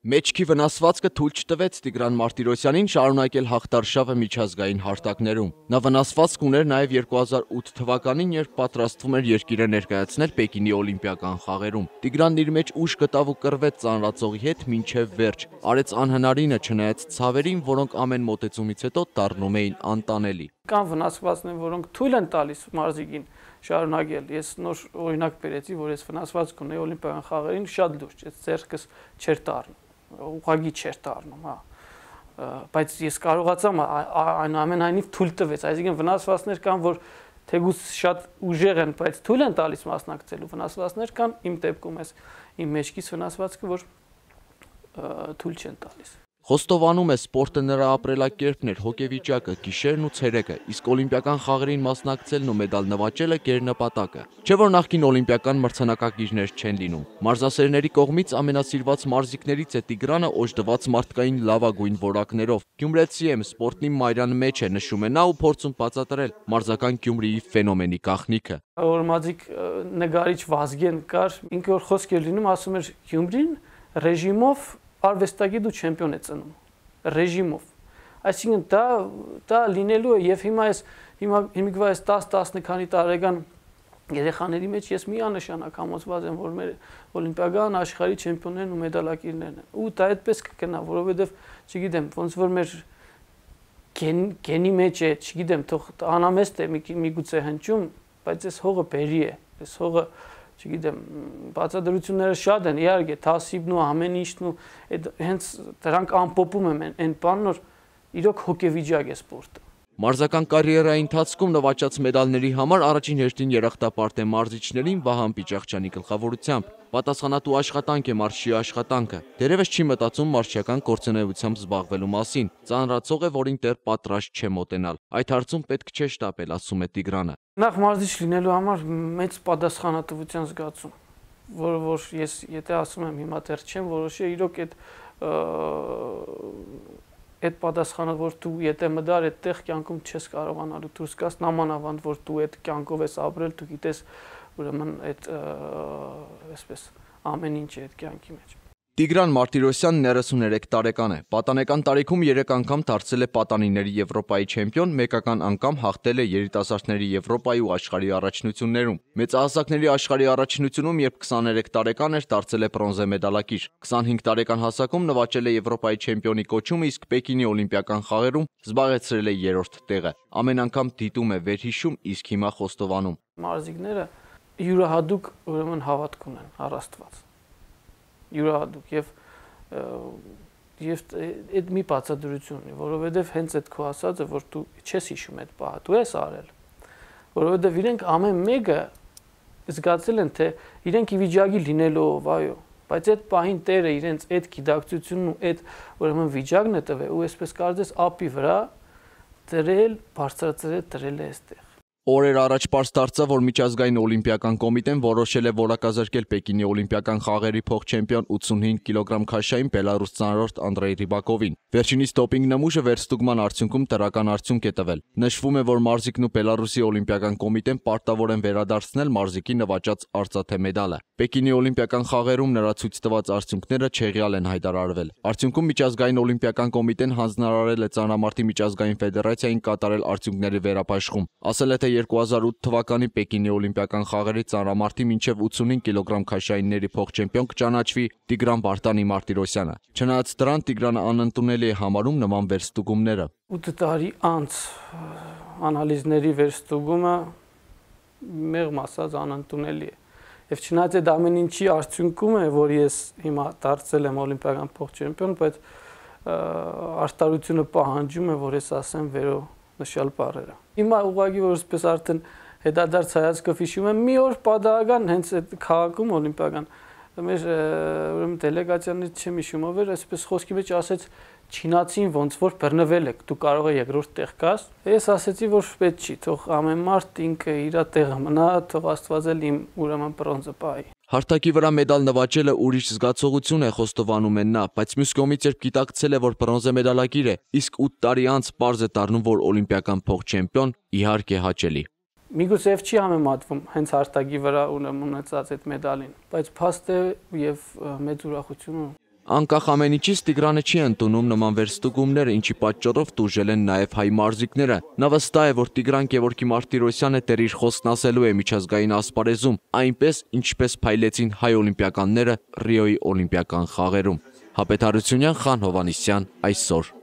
Մեջքի վնասվածքը թույլ չտվեց Տիգրան Մարտիրոսյանին շարունակել հաղթարշավը միջազգային հարթակներում։ Նա վնասվածք ուներ նաև 2008 թվականին, երբ պատրաստվում էր երկիրը ներկայացնել Պեկինի օլիմպիական խաղերում։ Տիգրանն իր մեջ ուժ գտավ ու կռվեց ծանրածողի հետ մինչև վերջ, արեց անհնարինը չնայած ցավերին, որոնք ամեն մոտեցումից հետո դառնում էին անտանելի։ Կան վնասվածքներ, որոնք թույլ են տալիս մարզիկին շարունակել։ Ես նոր օրինակ բերեցի, որ ես վնասվածք ունեի օլիմպիական խաղերին, շատ լուրջ, ես ձեռքս չէր դառնում, ուղղակի չէր դառնում, հա։ Բայց ես կարողացա այնուամենայնիվ թույլ տվեց, այսինքն վնասվածքներ կան, որ թեկուզ շատ ուժեղ են, բայց թույլ են տալիս մասնակցելու, վնասվածքներ կան, իմ դեպքում էս իմ մեջքից վնասվածքը, որ թույլ չեն տալիս։ Խոստովանում է, սպորտը նրա ապրելակերպն էր, հոգեվիճակը, գիշերն ու ցերեկը, իսկ օլիմպիական խաղերին մասնակցելն ու մեդալ նվաճելը գերնպատակը։ Չէ՞ որ նախկին օլիմպիական մրցանակակիրներ չեն լինում։ Մարզասերների կողմից ամենասիրված մարզիկներից է Տիգրանը, օժտված մարդկային լավագույն որակներով։ Գյումրեցի եմ, սպորտն իմ մայրան մեջ է, նշում է նա ու փորձում բացատրել մարզական Գյումրիի ֆենոմենի գաղտնիքը։ Օրմազիկ նկարիչ Վազգեն կար, ինքը որ խոսք էր լինում, ասում էր Գյումրին ռեժիմով արվեստագետ ու չեմպիոն է ծնում, ռեժիմով։ Այսինքն դա լինելու է եւ հիմիկվա այս 10-10 քանի տարեկան երեխաների մեջ ես միանշանակ համոզված եմ, որ մեր օլիմպիական աշխարհի չեմպիոններն ու մեդալակիրներն են։ Ու դա այդպես կգնա, որովհետեւ, չգիտեմ, ոնց որ մեր գենի մեջ է, չգիտեմ, թող անամեստ է միգուցե հնչում, բայց այս հողը բերի է, այս հողը չգիտեմ, բացատրությունները շատ են, իհարկե, թասիբն ու ամեն ինչն ու հենց դրանք ամփոփում եմ այն բանն, որ իրոք հոգեվիճակ է սպորտը։ Մարզական կարիերայի ընթացքում նվաճած մեդալների համար առաջին հերթին երախտապարտ է մարզիչներին Վահան Պիճախչյանի գլխավորությամբ։ Պատասխանատու աշխատանք է մարզչի աշխատանքը։ Դերևս չի մտածում մարզչական գործունեությամբ զբաղվելու մասին։ Ծանրացող է, որին դեռ պատրաստ չէ մոտենալ։ Այդ հարցում պետք չէ շտապել, ասում է Տիգրանը։ Նախ մարզիչ լինելու համար մեծ պատասխանատվության զգացում, որ ես եթե ասում եմ հիմա դեռ չեմ որոշել, իրոք այդ պատասխանը, որ դու եթե մտար այդտեղ կյանքում չես կարողանալու դուրս գաս, նամանավանդ որ դու այդ կյանքով ես ապրել, դու գիտես ուրեմն այդ այսպես ամեն ինչ է այդ կյանքի մեջ։ Տիգրան Մարտիրոսյանն 33 տարեկան է։ Պատանեկան տարիքում 3 անգամ դարձել է պատանիների Եվրոպայի չեմպիոն, մեկական անգամ հաղթել է երիտասարդների Եվրոպայի ու աշխարհի առաջնություններում։ Մեծահասակների աշխարհի առաջնությունում, երբ 23 տարեկան էր, դարձել է բրոնզե մեդալակիր։ 25 տարեկան հասակում նվաճել է Եվրոպայի չեմպիոնի կոչումը, իսկ Պեկինի օլիմպիական խաղերում զբաղեցրել է 3-րդ տեղը։ Ամեն անգամ դիտում է վերհիշում, իսկ հիմա խոստովանում։ Մարզիկները յուրահատուկ ուրեմն հավատք ունեն առ Աստված։ Յուրահատուկ եւ այդ մի բացատրություն ունի, որովհետեւ հենց այդ քո ասածը, որ դու չես հիշում այդ բանը, դու ես արել, որովհետեւ իրենք ամեն մեկը զգացել են, թե իրենք ի վիճակի լինելով, այո, բայց այդ պահին Տերը իրենց այդ գիտակցությունն ու այդ ուրեմն վիճակն է տվել ու այսպես կարծես ափի վրա դրել, բարձրացրել, դրել է այստեղ։ Օրեր առաջ պարզ դարձավ, որ միջազգային օլիմպիական կոմիտեն որոշել է որակազրկել Պեկինի օլիմպիական խաղերի փոխ-չեմպիոն 85 կիլոգրամ քաշային բելարուս ծանրորդ Անդրեյ Ռիբակովին։ Վերջինիս դոպինգ նմուշը վերստուգման արդյունքում դրական արդյունք է տվել։ Նշվում է, որ մարզիկն ու Բելարուսի օլիմպիական կոմիտեն պարտավոր են վերադարձնել մարզիկի նվաճած արծաթե մեդալը։ Պեկինի օլիմպիական խաղերում նրա ցույց տված արդյունքները չեղյալ են հայտարարվել։ Արդյունքում միջազգային օլիմպիական կոմիտեն հանձնարարել է Ծանրամարտի միջազգային ֆեդերացիային կատարել արդյունքների վերապաշխում։ Ասել է, թե 2008 թվականի Պեկինի օլիմպիական խաղերի ծանրամարտի մինչև 85 կիլոգրամ քաշայինների փոխ-չեմպիոն կճանաչվի Տիգրան Վարդանի Մարտիրոսյանը։ Չնայած դրան Տիգրանը անընդունելի է համարում նման վերստուգումները։ 8 տարի անց անալիզների վերստուգումը մեղմ ասած անընդունելի է։ Եվ չնայած այդ ամեն ինչի արդյունքում է, որ ես հիմա դարձել եմ օլիմպիական փոխ-չեմպիոն, բայց արտարությունը պահանջում է, որ ես ասեմ վերոնշյալ բառերը։ Հիմա ուղղակի որ այսպես արդեն հետադարձ հայացքով հիշում եմ, մի օր պատահական հենց այդ քաղաքում օլիմպիական մեր ուրեմն դելեգացիաներից չեմ հիշում ով էր, այսպես խոսքի մեջ ասեց չինացին ոնց որ բռնվել եք, դու կարող ես երկրորդ տեղ գաս։ Ես ասեցի, որ պետք չի, թող ամեն մարդ ինքը իր տեղը մնա, թող Աստված էլ իմ ուրեմն բրոնզը պահի։ Հարթակի վրա մեդալ նվաճելը ուրիշ զգացողություն է, խոստովանում են նա, բայց մյուս կողմից երբ գիտակցել է, որ բրոնզե մեդալակիր է, իսկ 8 տարի անց պարզ է դառնում, որ օլիմպիական փոխ-չեմպիոն, իհարկե հաճելի։ Միգուցե չի համեմատվում հենց հարթակի վրա ունեցած այդ մեդալին, բայց փաստ է եւ մեծ ուրախություն։ Անկախ ամեն ինչից Տիգրանը չի ընդունում նման վերստուգումները, ինչի պատճառով տուժել են նաև հայ մարզիկները։ Նա վստահ է, որ Տիգրան Գևորգի Մարտիրոսյանը դեռ իր խոսքն ասելու է միջազգային ասպարեզում, այնպես ինչպես փայլեցին հայ օլիմպիականները Ռիոյի օլիմպիական խաղերում։ Հապետ Հարությունյան, Խան Հովհաննիսյան, այսօր։